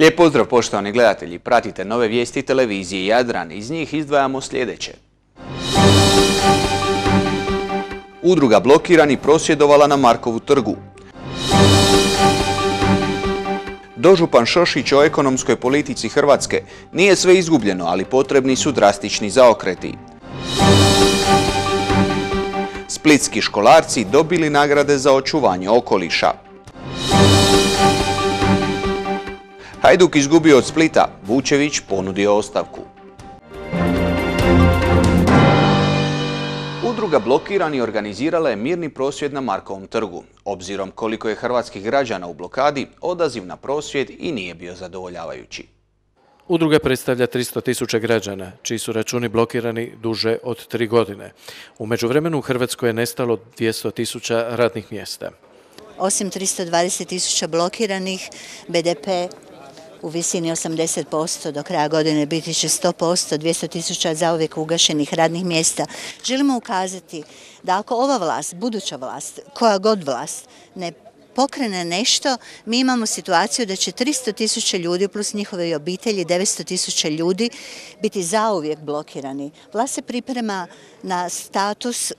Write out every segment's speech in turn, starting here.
Lijep pozdrav poštovani gledatelji, pratite nove vijesti televizije Jadran, iz njih izdvajamo sljedeće. Udruga Blokirani prosvjedovala na Markovu trgu. Dožupan Šošić o ekonomskoj politici Hrvatske: nije sve izgubljeno, ali potrebni su drastični zaokreti. Splitski školarci dobili nagrade za očuvanje okoliša. Hajduk izgubio od Splita, Vučević ponudio ostavku. Udruga Blokirani organizirala je mirni prosvjed na Markovom trgu. Obzirom koliko je hrvatskih građana u blokadi, odaziv na prosvjed i nije bio zadovoljavajući. Udruga predstavlja 300.000 građana, čiji su računi blokirani duže od 3 godine. U međuvremenu u Hrvatskoj je nestalo 200.000 radnih mjesta. Osim 320.000 blokiranih, BDP u visini 80%, do kraja godine biti će 100%, 200.000 zauvijek ugašenih radnih mjesta. Želimo ukazati da ako ova vlast, buduća vlast, koja god vlast, ne pokrene nešto, mi imamo situaciju da će 300.000 ljudi plus njihove obitelji, 900.000 ljudi biti zauvijek blokirani. Vlast se priprema na status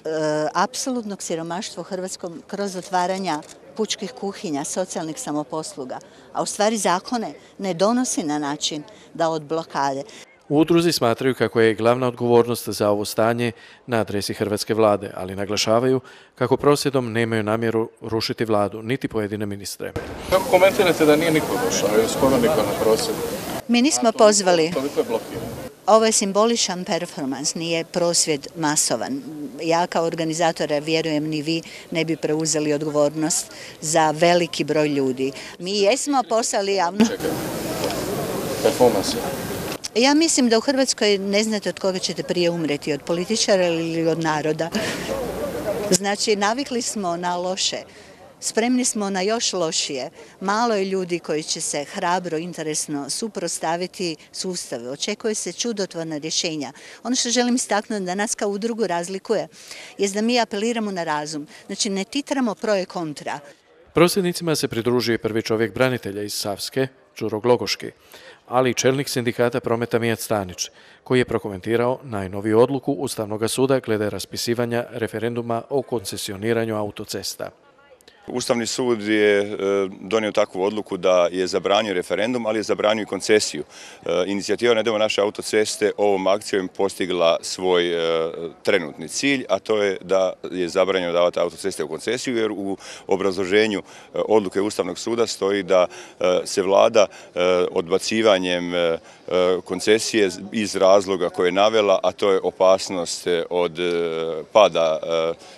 apsolutnog siromaštva u Hrvatskom kroz otvaranja pučkih kuhinja, socijalnih samoposluga, a u stvari zakone ne donosi na način da od blokade. U udruzi smatraju kako je glavna odgovornost za ovo stanje na adresi hrvatske vlade, ali naglašavaju kako prosvjedom nemaju namjeru rušiti vladu, niti pojedine ministre. Kako komentirate da nije niko došao, je skoro niko na prosvjedu? Mi nismo pozvali. Toliko je blokirano. Ovo je simboličan performans, nije prosvjed masovan. Ja kao organizatora, vjerujem ni vi, ne bi preuzeli odgovornost za veliki broj ljudi. Mi jesmo poslali javno. Čekaj, performans je. Ja mislim da u Hrvatskoj ne znate od koga ćete prije umreti, od političara ili od naroda. Znači, navikli smo na loše. Spremni smo na još lošije. Malo je ljudi koji će se hrabro, interesno suprotstaviti sustavu. Očekuje se čudotvorna rješenja. Ono što želim istaknuti da nas kao udrugu razlikuje je da mi apeliramo na razum. Znači, ne titramo pro i kontra. Prosvjednicima se pridružuje prvi čovjek branitelja iz Savske, Đuro Glogoški, ali i čelnik sindikata prometa Mijat Stanić, koji je prokomentirao najnoviju odluku Ustavnog suda glede raspisivanja referenduma o koncesioniranju autocesta. Ustavni sud je donio takvu odluku da je zabranio referendum, ali je zabranio i koncesiju. Inicijativa Ne idemo naše autoceste ovom akcijom postigla svoj trenutni cilj, a to je da je zabranjeno davati autoceste u koncesiju, jer u obrazloženju odluke Ustavnog suda stoji da se vlada odbacivanjem koncesije iz razloga koje je navela, a to je opasnost od pada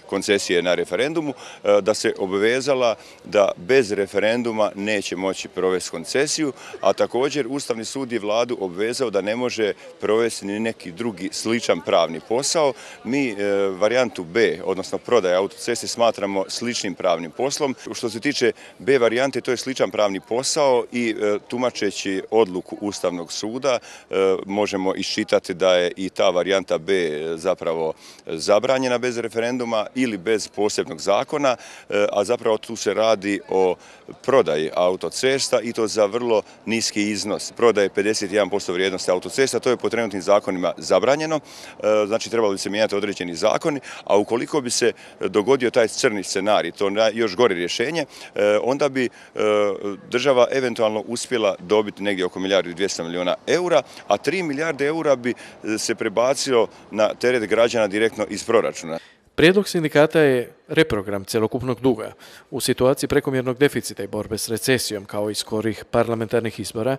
koncesije na referendumu, da se obvezala da bez referenduma neće moći provesti koncesiju, a također Ustavni sud je vladu obvezao da ne može provesti ni neki drugi sličan pravni posao. Mi varijantu B, odnosno prodaje autoceste, smatramo sličnim pravnim poslom. Što se tiče B varijante, to je sličan pravni posao i tumačeći odluku Ustavnog suda možemo iščitati da je i ta varijanta B zapravo zabranjena bez referenduma ili bez posebnog zakona, a zapravo tu se radi o prodaji autocesta i to za vrlo niski iznos. Prodaje 51% vrijednosti autocesta, to je po trenutnim zakonima zabranjeno, znači trebalo bi se mijenjati određeni zakoni, a ukoliko bi se dogodio taj crni scenarij, to još gore rješenje, onda bi država eventualno uspjela dobiti negdje oko 1,2 milijarde eura, a 3 milijarde eura bi se prebacio na teret građana direktno iz proračuna. Prijedlog sindikata je reprogram cjelokupnog duga. U situaciji prekomjernog deficita i borbe s recesijom, kao i skorih parlamentarnih izbora,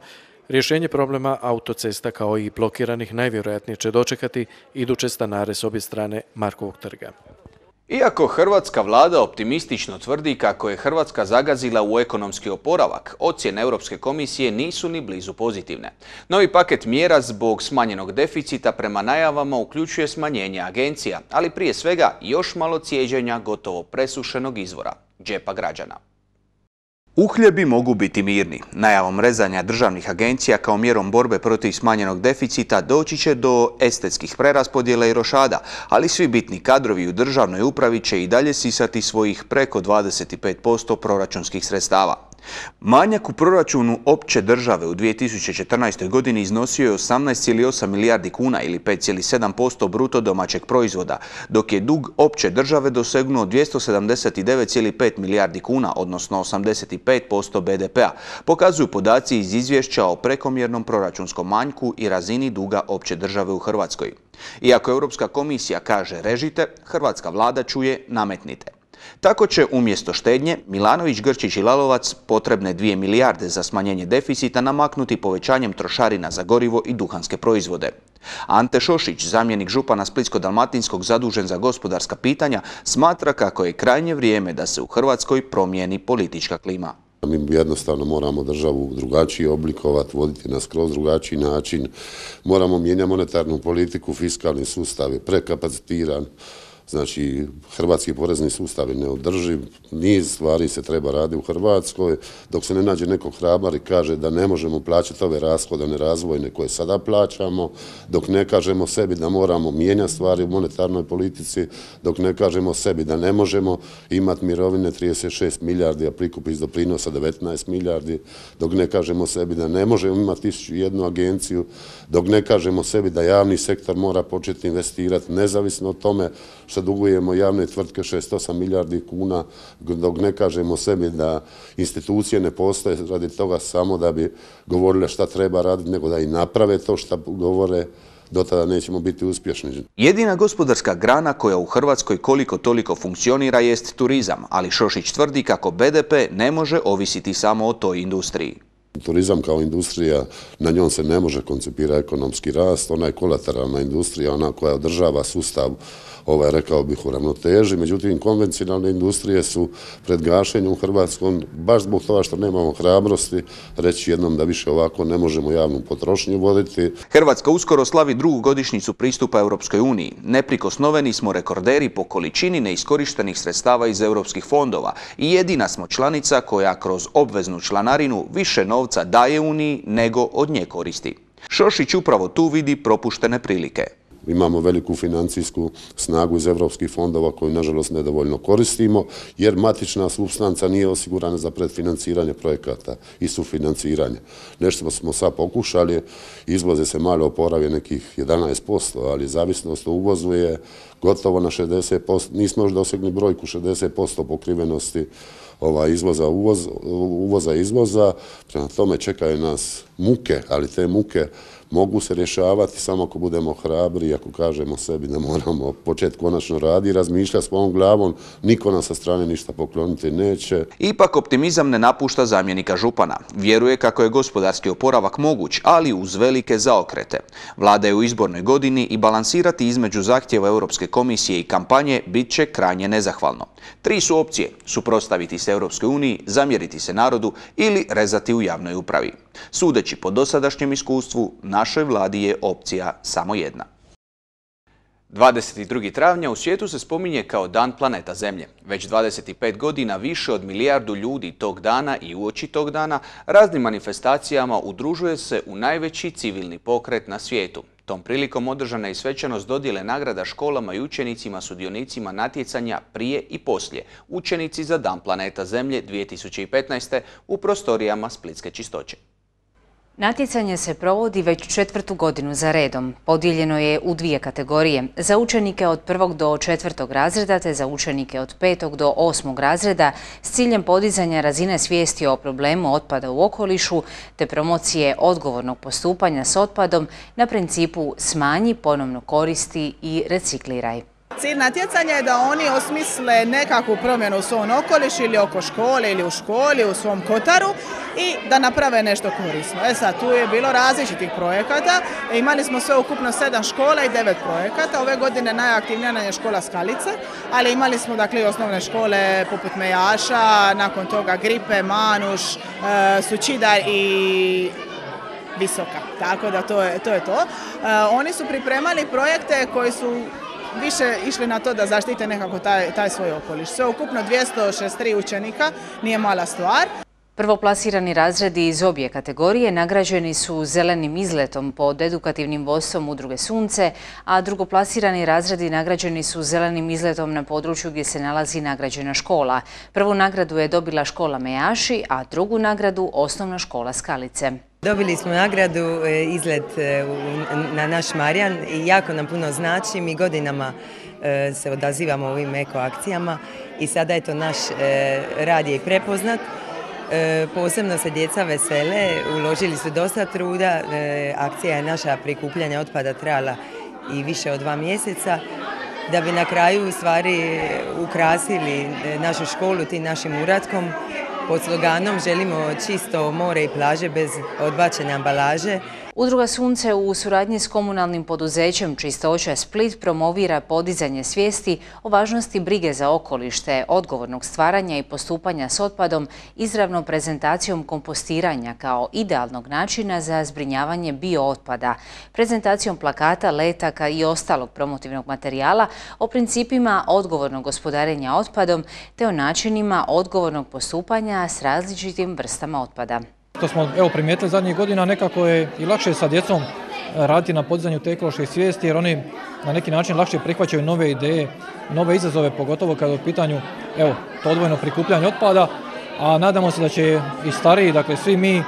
rješenje problema autocesta kao i blokiranih najvjerojatnije će dočekati iduće stanare s obje strane Markovog trga. Iako hrvatska vlada optimistično tvrdi kako je Hrvatska zagazila u ekonomski oporavak, ocjene Europske komisije nisu ni blizu pozitivne. Novi paket mjera zbog smanjenog deficita prema najavama uključuje smanjenje agencija, ali prije svega još malo cijeđenja gotovo presušenog izvora, džepa građana. Uhljebi mogu biti mirni. Najavom rezanja državnih agencija kao mjerom borbe protiv smanjenog deficita doći će do estetskih preraspodjela i rošada, ali svi bitni kadrovi u državnoj upravi će i dalje sisati svojih preko 25% proračunskih sredstava. Manjak u proračunu opće države u 2014. godini iznosio je 18,8 milijardi kuna ili 5,7% bruto domaćeg proizvoda, dok je dug opće države dosegnuo 279,5 milijardi kuna, odnosno 85% BDP-a, pokazuju podaci iz izvješća o prekomjernom proračunskom manjku i razini duga opće države u Hrvatskoj. Iako Europska komisija kaže režite, hrvatska vlada čuje nametnite. Tako će umjesto štednje Milanović, Grčić i Lalovac potrebne 2 milijarde za smanjenje deficita namaknuti povećanjem trošarina za gorivo i duhanske proizvode. Ante Šošić, zamjenik župana Splitsko-dalmatinskog zadužen za gospodarska pitanja, smatra kako je krajnje vrijeme da se u Hrvatskoj promijeni politička klima. Mi jednostavno moramo državu drugačije oblikovati, voditi na skroz drugačiji način. Moramo mijenjati monetarnu politiku, fiskalni sustav je prekapacitiran. Znači, hrvatski porezni sustav je neodrživ, niz stvari se treba raditi u Hrvatskoj, dok se ne nađe neko hrabar i kaže da ne možemo plaćati ove rashode nerazvojne koje sada plaćamo, dok ne kažemo sebi da moramo mijenjati stvari u monetarnoj politici, dok ne kažemo sebi da ne možemo imati mirovine 36 milijardi, a prikup iz doprinosa 19 milijardi, dok ne kažemo sebi da ne možemo imati 1001 agenciju, dok ne kažemo sebi da javni sektor mora početi investirati nezavisno od tome što dugujemo javne tvrtke 68 milijardi kuna, dok ne kažemo sebi da institucije ne postoje radi toga samo da bi govorile šta treba raditi, nego da i naprave to što govore, do tada nećemo biti uspješni. Jedina gospodarska grana koja u Hrvatskoj koliko toliko funkcionira jest turizam, ali Šošić tvrdi kako BDP ne može ovisiti samo o toj industriji. Turizam kao industrija, na njom se ne može koncipirati ekonomski rast, ona je kolateralna industrija, ona koja održava sustav, rekao bih, u ravnoteži. Međutim, konvencionalne industrije su pred gašenjem u Hrvatskom, baš zbog toga što nemamo hrabrosti reći jednom da više ovako ne možemo javnu potrošnju voditi. Hrvatska uskoro slavi drugu godišnjicu pristupa Europskoj uniji. Neprikosnoveni smo rekorderi po količini neiskorištenih sredstava iz europskih fondova i jedina smo članica koja kroz obveznu članarinu više novca daje Uniji nego od nje koristi. Šošić upravo tu vidi propuštene prilike. Imamo veliku financijsku snagu iz europskih fondova koju, nažalost, nedovoljno koristimo, jer matična supstanca nije osigurana za predfinanciranje projekata i sufinanciranje. Nešto smo sad pokušali, izvoze se malo oporavije nekih 11%, ali zavisnost o uvozu je gotovo na 60%. Nismo još dosegli brojku 60% pokrivenosti uvoza. Prema tome čekaju nas muke, ali te muke mogu se rješavati samo ako budemo hrabri i ako kažemo sebi da moramo početi konačno raditi i razmišljati s ovom glavom, niko nam sa strane ništa pokloniti neće. Ipak optimizam ne napušta zamjenika župana. Vjeruje kako je gospodarski oporavak moguć, ali uz velike zaokrete. Vlada je u izbornoj godini i balansirati između zahtjeva Europske komisije i kampanje bit će krajnje nezahvalno. 3 su opcije: suprotstaviti se Europskoj uniji, zamjeriti se narodu ili rezati u javnoj upravi. Sudeći po dosadašnjem iskustvu, našoj vladi je opcija samo jedna. 22. travnja u svijetu se spominje kao Dan planeta Zemlje. Već 25 godina više od milijardu ljudi tog dana i uoči tog dana raznim manifestacijama udružuje se u najveći civilni pokret na svijetu. Tom prilikom održana je i svečanost dodjele nagrada školama i učenicima sudionicima natjecanja prije i poslije Učenici za Dan planeta Zemlje 2015. u prostorijama Splitske čistoće. Natjecanje se provodi već 4. godinu za redom. Podijeljeno je u 2 kategorije. Za učenike od 1. do 4. razreda te za učenike od 5. do 8. razreda s ciljem podizanja razine svijesti o problemu otpada u okolišu te promocije odgovornog postupanja s otpadom na principu smanji, ponovno koristi i recikliraj. Cilj natjecanja je da oni osmisle nekakvu promjenu u svom okolišu ili oko škole ili u školi, u svom kotaru i da naprave nešto korisno. Sad, tu je bilo različitih projekata. Imali smo sve ukupno 7 škola i 9 projekata. Ove godine najaktivnija nam je škola Skalice, ali imali smo i osnovne škole poput Mejaša, nakon toga Gripe, Manuš, Sučidar i Visoka. Tako da to je to. Oni su pripremali projekte koji su više išli na to da zaštite nekako taj svoj okoliš. Sve ukupno 263 učenika, nije mala stvar. Prvoplasirani razredi iz obje kategorije nagrađeni su zelenim izletom pod edukativnim vodstvom Udruge Sunce, a drugoplasirani razredi nagrađeni su zelenim izletom na području gdje se nalazi nagrađena škola. Prvu nagradu je dobila škola Mejaši, a drugu nagradu osnovna škola Skalice. Dobili smo nagradu izlet na naš Marjan i jako nam puno znači. Mi godinama se odazivamo ovim eko akcijama i sada je to naš rad je i prepoznat. Posebno se djeca vesele, uložili su dosta truda, akcija je naša prikupljanja otpada trajala i više od 2 mjeseca, da bi na kraju u stvari ukrasili našu školu tim našim uratkom. Pod sloganom želimo čisto more i plaže bez odbačene ambalaže. Udruga Sunce u suradnji s komunalnim poduzećem Čistoća Split promovira podizanje svijesti o važnosti brige za okoliš te odgovornog stvaranja i postupanja s otpadom izravnom prezentacijom kompostiranja kao idealnog načina za zbrinjavanje biootpada, prezentacijom plakata, letaka i ostalog promotivnog materijala o principima odgovornog gospodarenja otpadom te o načinima odgovornog postupanja s različitim vrstama otpada. To smo primijetili zadnjih godina, nekako je i lakše sa djecom raditi na podizanju te ekološke svijesti jer oni na neki način lakše prihvaćaju nove ideje, nove izazove, pogotovo kada je u pitanju to odvojeno prikupljanje otpada, a nadamo se da će i stariji, dakle svi mi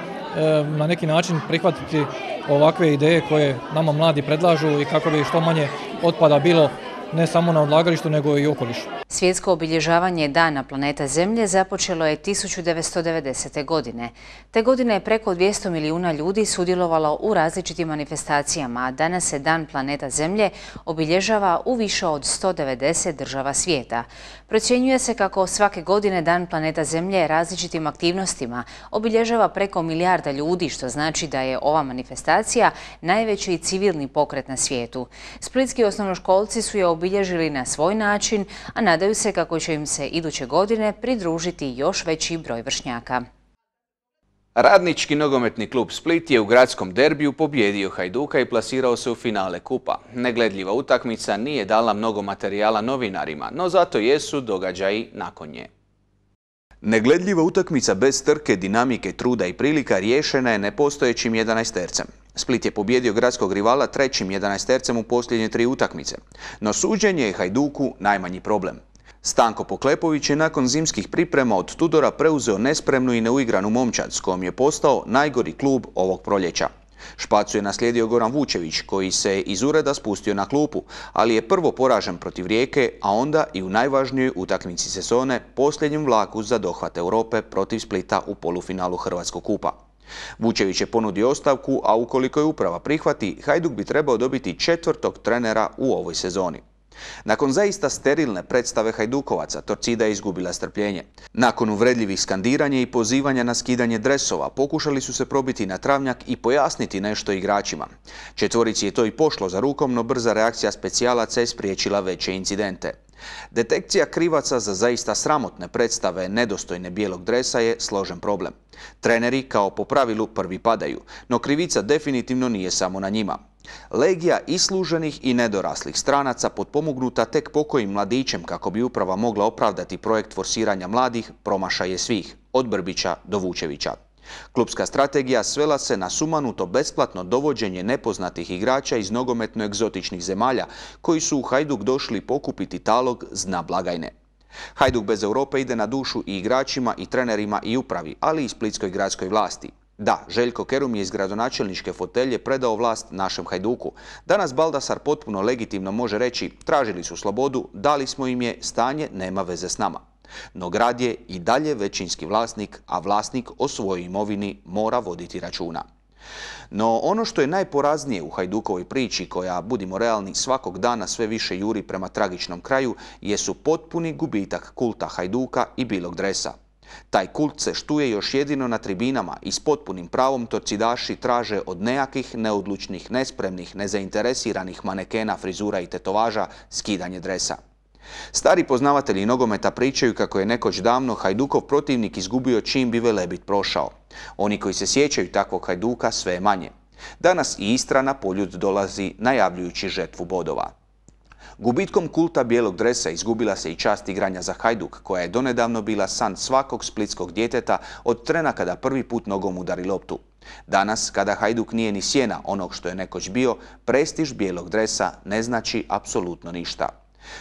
na neki način prihvatiti ovakve ideje koje nama mladi predlažu i kako bi što manje otpada bilo ne samo na odlagalištu nego i okolišu. Svjetsko obilježavanje Dana planeta Zemlje započelo je 1990. godine. Te godine je preko 200 milijuna ljudi sudjelovalo u različitim manifestacijama, a danas se Dan planeta Zemlje obilježava u više od 190 država svijeta. Procjenjuje se kako svake godine Dan planeta Zemlje različitim aktivnostima obilježava preko milijarda ljudi, što znači da je ova manifestacija najveći civilni pokret na svijetu. Splitski osnovnoškolci su je obilježili na svoj način, a nadaju se kako će im se iduće godine pridružiti još veći broj vršnjaka. Radnički nogometni klub Split je u gradskom derbiju pobijedio Hajduka i plasirao se u finale kupa. Negledljiva utakmica nije dala mnogo materijala novinarima, no zato jesu događaji nakon nje. Negledljiva utakmica bez trke, dinamike, truda i prilika riješena je nepostojećim 11-tercem. Split je pobijedio gradskog rivala trećim 11-tercem u posljednje 3 utakmice, no suđenje je Hajduku najmanji problem. Stanko Poklepović je nakon zimskih priprema od Tudora preuzeo nespremnu i neuigranu momčad s kojom je postao najgori klub ovog proljeća. Špacu je naslijedio Goran Vučević koji se iz ureda spustio na klupu, ali je prvo poražen protiv Rijeke, a onda i u najvažnijoj utakmici sezone posljednjem vlaku za dohvat Europe protiv Splita u polufinalu Hrvatskog kupa. Vučević je ponudio ostavku, a ukoliko je uprava prihvati, Hajduk bi trebao dobiti 4. trenera u ovoj sezoni. Nakon zaista sterilne predstave Hajdukovaca, Torcida je izgubila strpljenje. Nakon uvredljivih skandiranja i pozivanja na skidanje dresova, pokušali su se probiti na travnjak i pojasniti nešto igračima. Četvorici je to i pošlo za rukom, no brza reakcija specijalaca je spriječila veće incidente. Detekcija krivaca za zaista sramotne predstave nedostojne bijelog dresa je složen problem. Treneri kao po pravilu prvi padaju, no krivica definitivno nije samo na njima. Legija isluženih i nedoraslih stranaca potpomognuta tek pokojim mladićem kako bi uprava mogla opravdati projekt forsiranja mladih promašaje svih, od Brbića do Vučevića. Klubska strategija svela se na sumanuto besplatno dovođenje nepoznatih igrača iz nogometno egzotičnih zemalja koji su u Hajduk došli pokupiti talog z dna blagajne. Hajduk bez Europe ide na dušu i igračima i trenerima i upravi, ali i splitskoj gradskoj vlasti. Da, Željko Kerum je iz gradonačelničke fotelje predao vlast našem Hajduku. Danas Baldasar potpuno legitimno može reći tražili su slobodu, dali smo im je, stanje nema veze s nama. No grad je i dalje većinski vlasnik, a vlasnik o svojoj imovini mora voditi računa. No ono što je najporaznije u Hajdukovoj priči, koja, budimo realni, svakog dana sve više juri prema tragičnom kraju, jesu potpuni gubitak kulta Hajduka i bilog dresa. Taj kult se štuje još jedino na tribinama i s potpunim pravom torcidaši traže od nejakih, neodlučnih, nespremnih, nezainteresiranih manekena, frizura i tetovaža skidanje dresa. Stari poznavatelji nogometa pričaju kako je nekoć davno Hajdukov protivnik izgubio čim bi Velebit prošao. Oni koji se sjećaju takvog Hajduka sve je manje. Danas i Istra na poljud dolazi najavljujući žetvu bodova. Gubitkom kulta bijelog dresa izgubila se i čast igranja za Hajduk, koja je donedavno bila san svakog splitskog djeteta od trena kada prvi put nogom udari loptu. Danas, kada Hajduk nije ni sjena onog što je nekoć bio, prestiž bijelog dresa ne znači apsolutno ništa.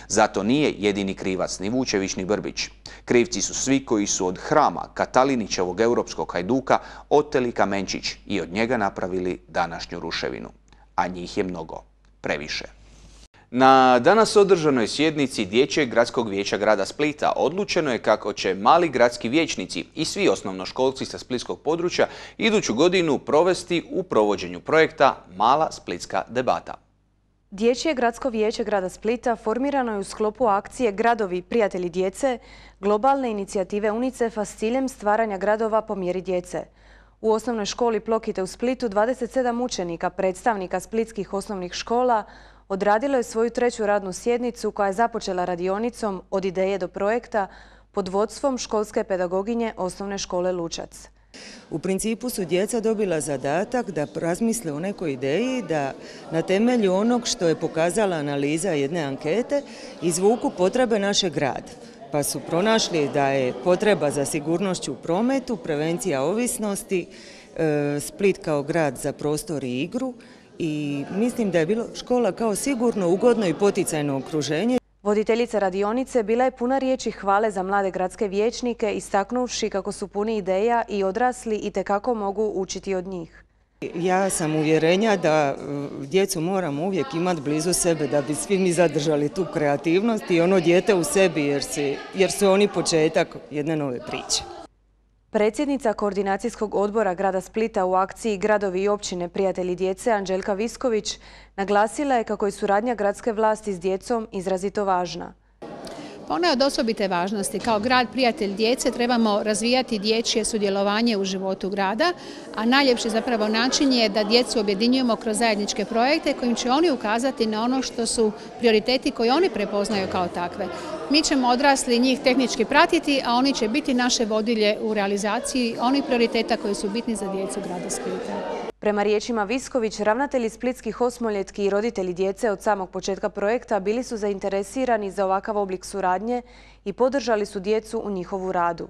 Zato nije jedini krivac ni Vučević ni Brbić. Krivci su svi koji su od hrama Katalinićevog europskog Hajduka oteli kamenčić i od njega napravili današnju ruševinu. A njih je mnogo. Previše. Na danas održanoj sjednici Dječjeg gradskog vijeća grada Splita odlučeno je kako će mali gradski vijećnici i svi osnovnoškolci sa splitskog područja iduću godinu provesti u provođenju projekta Mala splitska debata. Dječje gradsko vijeće grada Splita formirano je u sklopu akcije Gradovi prijatelji djece, globalne inicijative UNICEF-a s ciljem stvaranja gradova po mjeri djece. U osnovnoj školi Plokite u Splitu 27 učenika, predstavnika splitskih osnovnih škola, odradilo je svoju treću radnu sjednicu koja je započela radionicom od ideje do projekta pod vodstvom školske pedagoginje osnovne škole Lučac. U principu su djeca dobila zadatak da razmisle o nekoj ideji, da na temelju onog što je pokazala analiza jedne ankete izvuku potrebe našeg grada. Pa su pronašli da je potreba za sigurnošću u prometu, prevencija ovisnosti, Split kao grad za prostor i igru i mislim da je bilo škola kao sigurno, ugodno i poticajno okruženje. Voditeljica radionice bila je puna riječi hvale za mlade gradske vijećnike, istaknuvši kako su puni ideja i odrasli itekako mogu učiti od njih. Ja sam uvjerenja da djecu moramo uvijek imati blizu sebe da bi svi mi zadržali tu kreativnost i ono dijete u sebi jer su oni početak jedne nove priče. Predsjednica Koordinacijskog odbora grada Splita u akciji Gradovi i općine prijatelji djece Anđelka Visković naglasila je kako je suradnja gradske vlasti s djecom izrazito važna. Ona je od osobite važnosti. Kao grad prijatelj djece trebamo razvijati dječje sudjelovanje u životu grada, a najljepši zapravo način je da djecu objedinjujemo kroz zajedničke projekte kojim će oni ukazati na ono što su prioriteti koje oni prepoznaju kao takve. Mi ćemo odrasli njih tehnički pratiti, a oni će biti naše vodilje u realizaciji onih prioriteta koji su bitni za djecu grada Splita. Prema riječima Visković, ravnatelji splitskih osmoljetki i roditelji djece od samog početka projekta bili su zainteresirani za ovakav oblik suradnje i podržali su djecu u njihovu radu.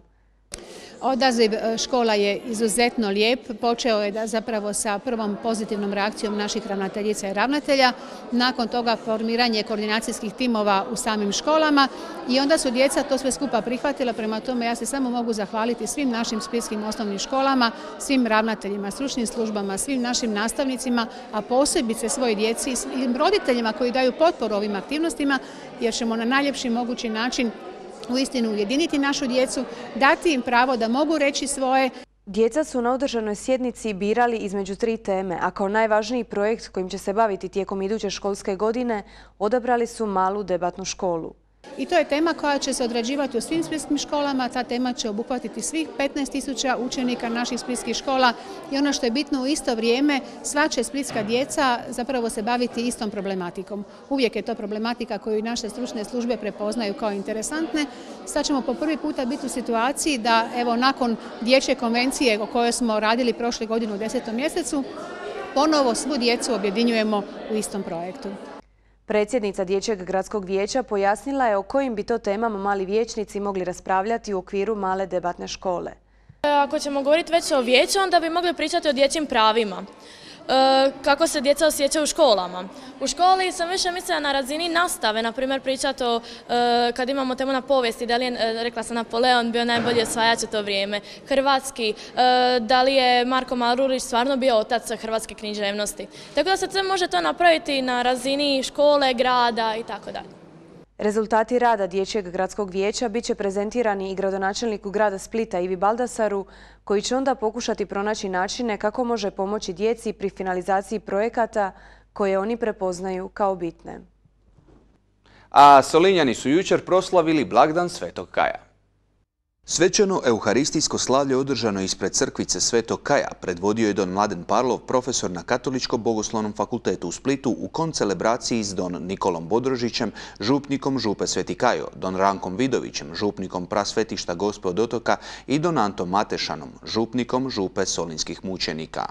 Odaziv škola je izuzetno lijep. Počeo je zapravo sa prvom pozitivnom reakcijom naših ravnateljica i ravnatelja. Nakon toga formiranje koordinacijskih timova u samim školama i onda su djeca to sve skupa prihvatila. Prema tome ja se samo mogu zahvaliti svim našim splitskim osnovnim školama, svim ravnateljima, stručnim službama, svim našim nastavnicima, a posebice svoj djeci i svim roditeljima koji daju potporu ovim aktivnostima jer ćemo na najljepši mogući način uistinu ujediniti našu djecu, dati im pravo da mogu reći svoje. Djeca su na održanoj sjednici birali između 3 teme, a kao najvažniji projekt kojim će se baviti tijekom iduće školske godine odabrali su malu debatnu školu. I to je tema koja će se odrađivati u svim splitskim školama. Ta tema će obuhvatiti svih 15.000 učenika naših splitskih škola i ono što je bitno u isto vrijeme, sva će splitska djeca zapravo se baviti istom problematikom. Uvijek je to problematika koju naše stručne službe prepoznaju kao interesantne. Sad ćemo po prvi puta biti u situaciji da evo nakon dječje konvencije o kojoj smo radili prošle godine u 10. mjesecu, ponovo svu djecu objedinjujemo u istom projektu. Predsjednica Dječjeg gradskog vijeća pojasnila je o kojim bi to temama mali vijećnici mogli raspravljati u okviru male debatne škole. Ako ćemo govoriti već o vijeću, onda bi mogli pričati o dječjim pravima. Kako se djeca osjećaju u školama. U školi sam više mislila na razini nastave, na primjer pričati o, kad imamo temu na povijesti, da li je, rekla sam, Napoleon bio najbolji osvajač u to vrijeme, hrvatski, da li je Marko Marulić stvarno bio otac hrvatske književnosti. Tako da se sve može to napraviti na razini škole, grada i tako dalje. Rezultati rada Dječjeg gradskog vijeća bit će prezentirani i gradonačelniku grada Splita Ivi Baldasaru, koji će onda pokušati pronaći načine kako može pomoći djeci pri finalizaciji projekata koje oni prepoznaju kao bitne. A Solinjani su jučer proslavili blagdan Svetog Kaja. Svečano euharistijsko slavlje održano ispred crkvice Svetog Kaja predvodio je don Mladen Parlov, profesor na Katoličko-bogoslovnom fakultetu u Splitu u koncelebraciji s don Nikolom Bodrožićem, župnikom župe Sveti Kajo, don Rankom Vidovićem, župnikom prasvetišta Gospe od Otoka i don Antom Matešanom, župnikom župe Solinskih mučenika.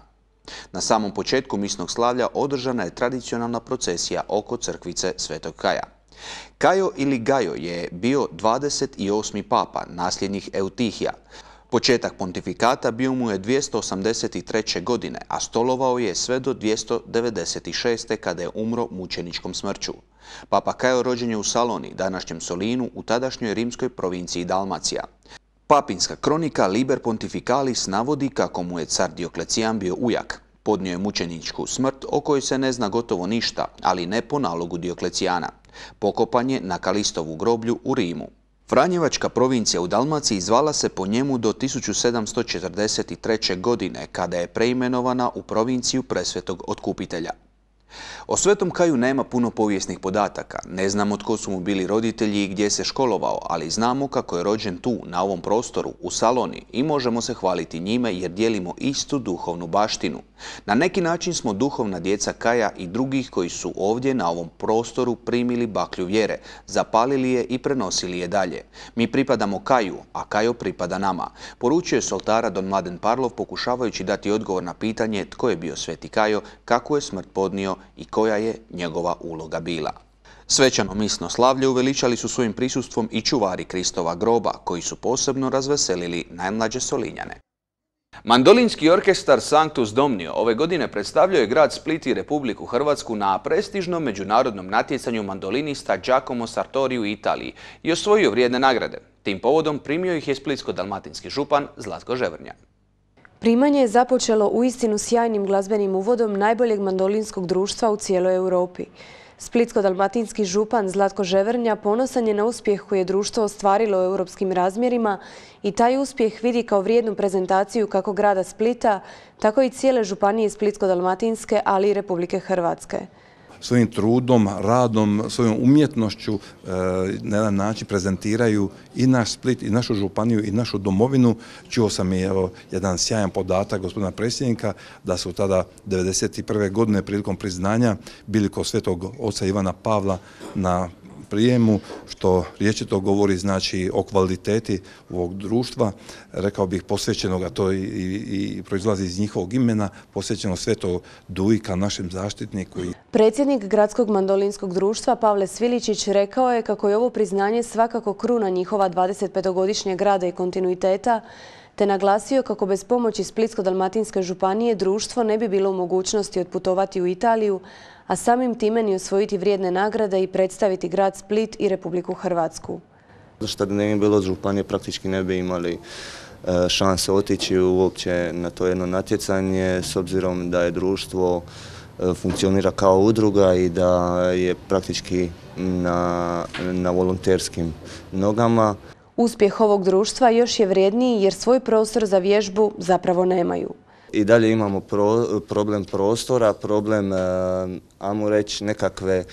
Na samom početku misnog slavlja održana je tradicionalna procesija oko crkvice Svetog Kaja. Kajo ili Gajo je bio 28. papa, nasljednik Eutihija. Početak pontifikata bio mu je 283. godine, a stolovao je sve do 296. kada je umro mučeničkom smrću. Papa Kajo rođen je u Saloni, današnjem Solinu, u tadašnjoj rimskoj provinciji Dalmacija. Papinska kronika Liber Pontificalis navodi kako mu je car Dioklecijan bio ujak. Podnio je mučeničku smrt o kojoj se ne zna gotovo ništa, ali ne po nalogu Dioklecijana. Pokopan je na Kalistovu groblju u Rimu. Franjevačka provincija u Dalmaciji zvala se po njemu do 1743. godine, kada je preimenovana u provinciju Presvetog Otkupitelja. O Svetom Kaju nema puno povijesnih podataka. Ne znamo tko su mu bili roditelji i gdje se školovao, ali znamo kako je rođen tu, na ovom prostoru, u Saloni, i možemo se hvaliti njime jer dijelimo istu duhovnu baštinu. Na neki način smo duhovna djeca Kaja i drugih koji su ovdje na ovom prostoru primili baklju vjere, zapalili je i prenosili je dalje. Mi pripadamo Kaju, a Kajo pripada nama, poručio je s oltara don Mladen Parlov, pokušavajući dati odgovor na pitanje tko je bio Sveti Kajo, kako je smrt podnio i koja je njegova uloga bila. Svečano misno slavlje uveličali su svojim prisustvom i čuvari Kristova groba, koji su posebno razveselili najmlađe Solinjane. Mandolinski orkestar Sanctus Domnio ove godine predstavljao je grad Split i Republiku Hrvatsku na prestižnom međunarodnom natjecanju mandolinista Giacomo Sartori u Italiji i osvojio vrijedne nagrade. Tim povodom primio ih je splitsko-dalmatinski župan Zlatko Ževrnja. Primanje je započelo uistinu sjajnim glazbenim uvodom najboljeg mandolinskog društva u cijeloj Europi. Splitsko-dalmatinski župan Zlatko Ževrnja ponosan je na uspjeh koji je društvo ostvarilo u europskim razmjerima i taj uspjeh vidi kao vrijednu prezentaciju kako grada Splita, tako i cijele županije Splitsko-dalmatinske, ali i Republike Hrvatske. Svojim trudom, radom, svojom umjetnošću na jedan način prezentiraju i naš Split, i našu županiju, i našu domovinu. Čuo sam i jedan sjajan podatak gospodina predsjednika da su tada 1991. godine prilikom priznanja bili kod svetog oca Ivana Pavla na prijemu, što rječito govori znači o kvaliteti ovog društva, rekao bih posvećenog, a to i proizlazi iz njihovog imena, posvećeno Svetog Dujka, našem zaštitniku. Predsjednik Gradskog mandolinskog društva Pavle Sviličić rekao je kako je ovo priznanje svakako kruna njihova 25-godišnjeg rada i kontinuiteta, te naglasio kako bez pomoći Splitsko-dalmatinske županije društvo ne bi bilo u mogućnosti otputovati u Italiju, a samim time ni osvojiti vrijedne nagrade i predstaviti grad Split i Republiku Hrvatsku. Što da ne bi bilo od županije, praktički ne bi imali šanse otići uopće na to jedno natjecanje, s obzirom da je društvo funkcionira kao udruga i da je praktički na volonterskim nogama. Uspjeh ovog društva još je vrijedniji jer svoj prostor za vježbu zapravo nemaju. I dalje imamo problem prostora, problem, ajmo reći, nekakve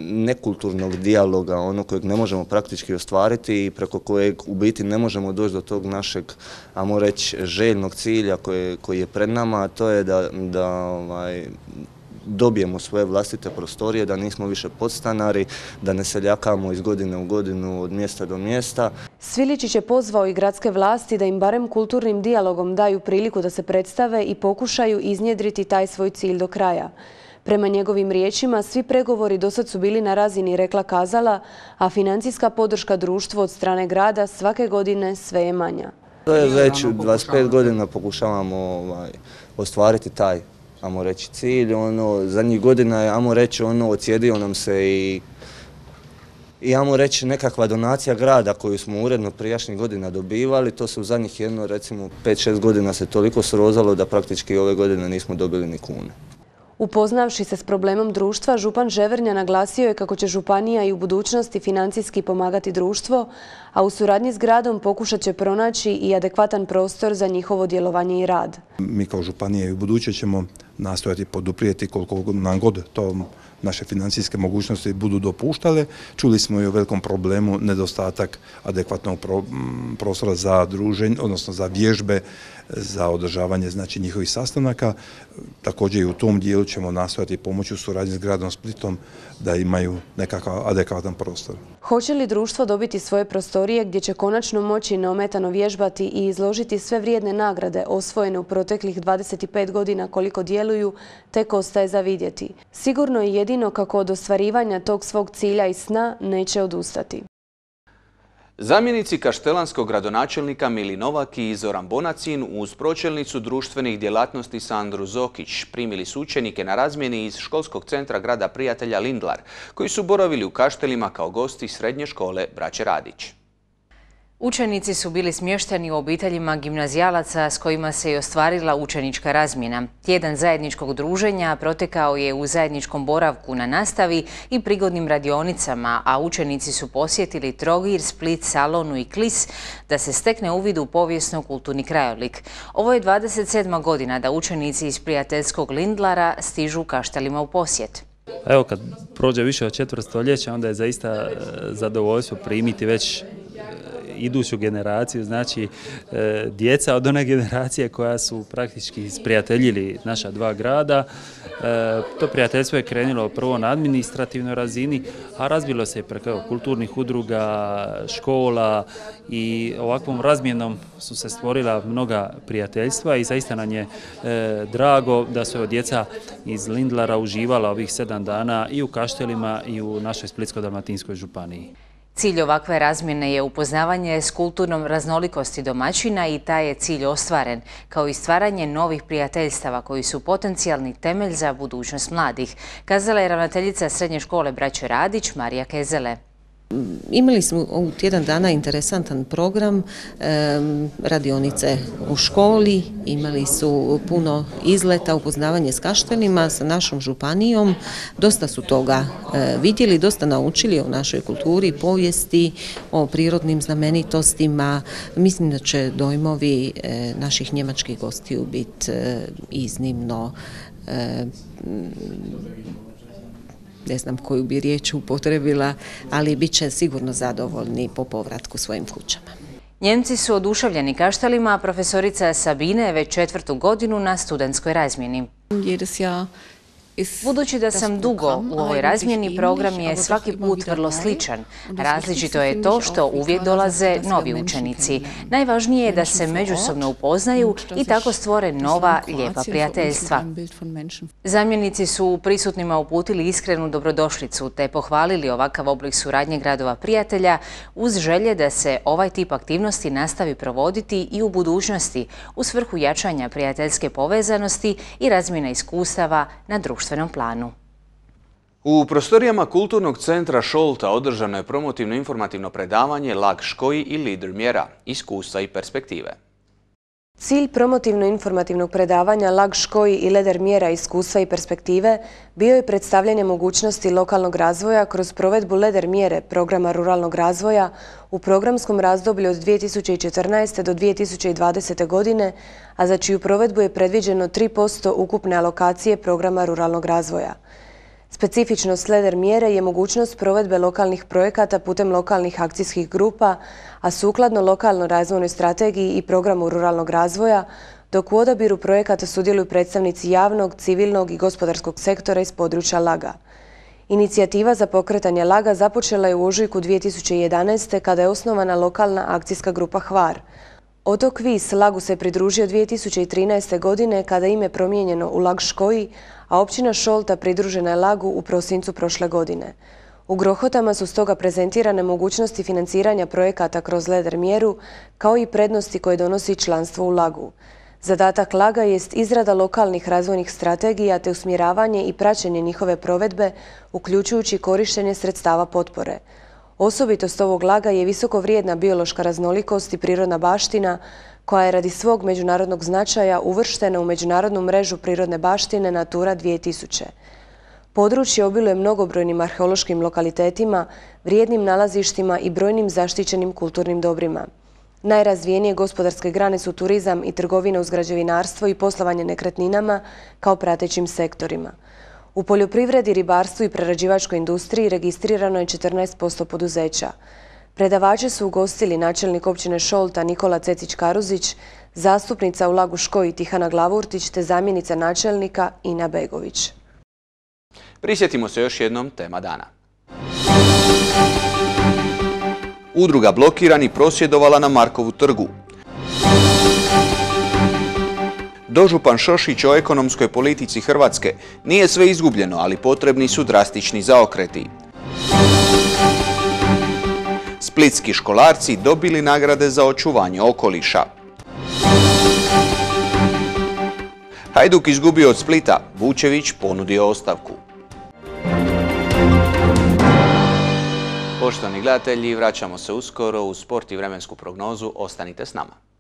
nekulturnog dijaloga, ono kojeg ne možemo praktički ostvariti i preko kojeg u biti ne možemo doći do tog našeg, ajmo reći, željnog cilja koji je pred nama, a to je da dobijemo svoje vlastite prostorije, da nismo više podstanari, da ne seljakamo iz godine u godinu od mjesta do mjesta. Sviličić je pozvao i gradske vlasti da im barem kulturnim dijalogom daju priliku da se predstave i pokušaju iznjedriti taj svoj cilj do kraja. Prema njegovim riječima, svi pregovori dosad su bili na razini rekla-kazala, a financijska podrška društvu od strane grada svake godine sve je manja. To je već 25 godina pokušavamo ostvariti taj, ajmo reći, cilj. Zadnjih godina je, ajmo reći, odsjedio nam se i ajmo reći, nekakva donacija grada koju smo uredno prijašnjih godina dobivali. To se u zadnjih recimo 5-6 godina se toliko srozalo da praktički ove godine nismo dobili ni kune. Upoznavši se s problemom društva, župan Ževrnja naglasio je kako će županija i u budućnosti financijski pomagati društvo, a u suradnji s gradom pokušat će pronaći i adekvatan prostor za njihovo djelovanje i rad. Mi kao županija i u buduće ćemo nastojati poduprijeti koliko nam god to naše financijske mogućnosti budu dopuštale. Čuli smo i o velikom problemu nedostatak adekvatnog prostora za druženje, odnosno za vježbe, za održavanje znači njihovih sastanaka. Također i u tom dijelu ćemo nastojati pomoći u suradnji s gradom Splitom da imaju nekakav adekvatan prostor. Hoće li društvo dobiti svoje prostorije gdje će konačno moći neometano vježbati i izložiti sve vrijedne nagrade osvojene u proteklih 25 godina koliko djeluje? djeluju, tek ostaje za vidjeti. Sigurno je jedino kako od ostvarivanja tog svog cilja i sna neće odustati. Zamjenici kaštelanskog gradonačelnika Mili Novak i Zoran Bonacin uz pročelnicu društvenih djelatnosti Sandru Zokić primili su učenike na razmjeni iz školskog centra grada prijatelja Lindlar, koji su boravili u Kaštelima kao gosti srednje škole Braće Radić. Učenici su bili smješteni u obiteljima gimnazijalaca s kojima se i ostvarila učenička razmjena. Tjedan zajedničkog druženja protekao je u zajedničkom boravku na nastavi i prigodnim radionicama, a učenici su posjetili Trogir, Split, Salonu i Klis da se stekne uvid u povijesno-kulturni krajolik. Ovo je 27. godina da učenici iz prijateljskog Lindlara stižu u Kaštelima u posjet. Evo, kad prođe više od četvrt stoljeća, onda je zaista zadovoljstvo primiti već iduću generaciju, znači djeca od one generacije koja su praktički sprijateljili naša dva grada. To prijateljstvo je krenulo prvo na administrativnoj razini, a razvilo se i preko kulturnih udruga, škola i ovakvom razmjenom su se stvorila mnoga prijateljstva i zaista nam je drago da su djeca iz Lindlara uživala ovih 7 dana i u Kaštelima i u našoj Splitsko-dalmatinskoj županiji. Cilj ovakve razmjene je upoznavanje s kulturnom raznolikosti domaćina i taj je cilj ostvaren, kao i stvaranje novih prijateljstava koji su potencijalni temelj za budućnost mladih, kazala je ravnateljica srednje škole Braće Radić Marija Kezele. Imali smo u tjedan dana interesantan program, radionice u školi, imali su puno izleta, upoznavanje s Kaštelima, sa našom županijom. Dosta su toga vidjeli, dosta naučili o našoj kulturi, povijesti, o prirodnim znamenitostima. Mislim da će dojmovi naših njemačkih gostiju biti iznimno, ne znam koju bi riječ upotrebila, ali bit će sigurno zadovoljni po povratku svojim kućama. Njemci su oduševljeni Kaštelima, a profesorica Sabine je već 4. godinu na studentskoj razmjeni. Budući da sam dugo u ovoj razmjeni, program je svaki put vrlo sličan. Različito je to što uvijek dolaze novi učenici. Najvažnije je da se međusobno upoznaju i tako stvore nova, lijepa prijateljstva. Zamjenici su prisutnima uputili iskrenu dobrodošlicu te pohvalili ovakav oblik suradnje gradova prijatelja uz želje da se ovaj tip aktivnosti nastavi provoditi i u budućnosti u svrhu jačanja prijateljske povezanosti i razmjene iskustava na društvenom planu. U prostorijama Kulturnog centra Šolta održano je promotivno-informativno predavanje Lag Škoji i lider mjera, iskustva i perspektive. Cilj promotivno-informativnog predavanja Lag Škoji i lider mjera, iskustva i perspektive bio je predstavljanje mogućnosti lokalnog razvoja kroz provedbu lider mjere programa ruralnog razvoja u programskom razdoblju od 2014. do 2020. godine, a za čiju provedbu je predviđeno 3% ukupne alokacije programa ruralnog razvoja. Specifičnost lider mjere je mogućnost provedbe lokalnih projekata putem lokalnih akcijskih grupa, a sukladno lokalnoj razvojnoj strategiji i programu ruralnog razvoja, dok u odabiru projekata sudjeluju predstavnici javnog, civilnog i gospodarskog sektora iz područja Laga. Inicijativa za pokretanje Laga započela je u ožujku 2011. kada je osnovana lokalna akcijska grupa Hvar. Otok Vis Lagu se pridružio 2013. godine kada je ime promijenjeno u Lag Škoji, a općina Šolta pridružena je Lagu u prosincu prošle godine. U Grohotama su stoga prezentirane mogućnosti financiranja projekata kroz lider mjeru, kao i prednosti koje donosi članstvo u Lagu. Zadatak Laga jest izrada lokalnih razvojnih strategija te usmjeravanje i praćenje njihove provedbe, uključujući korištenje sredstava potpore. Osobitost ovog Laga je visoko vrijedna biološka raznolikost i prirodna baština, koja je radi svog međunarodnog značaja uvrštena u međunarodnu mrežu prirodne baštine Natura 2000. Područje obiluje mnogobrojnim arheološkim lokalitetima, vrijednim nalazištima i brojnim zaštićenim kulturnim dobrima. Najrazvijenije gospodarske grane su turizam i trgovina uz građevinarstvo i poslovanje nekretninama kao pratećim sektorima. U poljoprivredi, ribarstvu i prerađivačkoj industriji registrirano je 14% poduzeća. Predavače su ugostili načelnik općine Šolta Nikola Cecić-Karuzić, zastupnica u Lagu Škoji Tihana Glavurtić te zamjenica načelnika Ina Begović. Prisjetimo se još jednom tema dana. Udruga Blokirani prosvjedovala na Markovu trgu. Dožupan Šošić o ekonomskoj politici Hrvatske. Nije sve izgubljeno, ali potrebni su drastični zaokreti. Splitski školarci dobili nagrade za očuvanje okoliša. Hajduk izgubio od Splita, Vučević ponudio ostavku. Poštovani gledatelji, vraćamo se uskoro u sport i vremensku prognozu. Ostanite s nama.